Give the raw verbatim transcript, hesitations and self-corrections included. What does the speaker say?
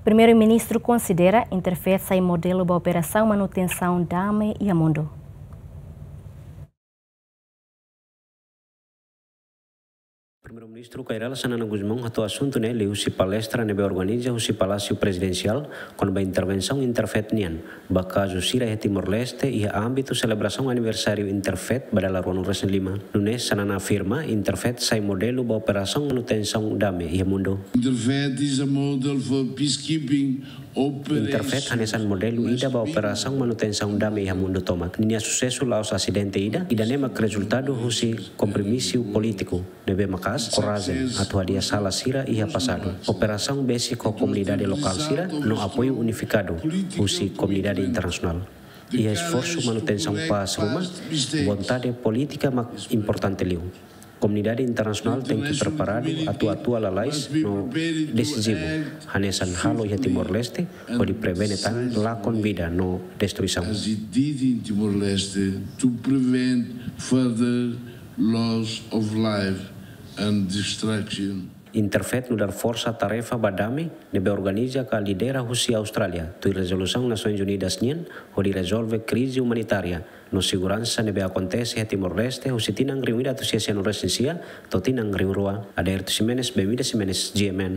Primeiru-Ministru konsidera Interfet sai modelu ba operasaun manutensaun dame iha mundu. Primeiru-Ministru Kay Rala Xanana Gusmão hato'o asuntu ne'e liuhusi palestra ne'ebé organiza husi Palásiu Prezidensiál kona-ba intervensaun Interfet nian ba kazu sira iha Timor-Leste iha ámbitu selebrasaun aniversáriu Interfet ba dala ruanulu-resin-lima. Nune'e Xanana afirma Interfet sai modelu ba operasaun manutensaun dame iha mundu. Interfet is a model for peacekeeping. Interfet hanesan modelu ida ba operasaun manutensaun dame iha mundu tomak. Ninia susesu la'ós asidente ida, ida-ne'e mak rezultadu husi kompromisu polítiku ne'ebé maka'as, korajen atu hadi'a sala sira iha pasadu, kooperasaun besik ho komunidade lokál sira no apoiu unifikadu husi komunidade internasionál. Iha esforsu manutensaun pás ruma, vontade polítika mak importante liu. Komunidade internasionál tenke preparadu atu atua lalais no desizivu, hanesan halo iha Timor-Leste, hodi prevene tan lakon vida no destruisaun. As it did in Timor-Leste, to prevent further loss of life and destruction. Interfet nu'udar forsa tarefa ba dame ne'ebé organiza ka lidera husi Austrália, tuir rezolusaun Nasoins Unidas nian, hodi rezolve krize umanitária no seguransa ne'ebé akontese iha Timor-Leste husi tinan rihun ida atus sia sianulu-resin-sia to'o tinan rihun rua. Aderito Ximenes, Bemida Ximenes, G M N.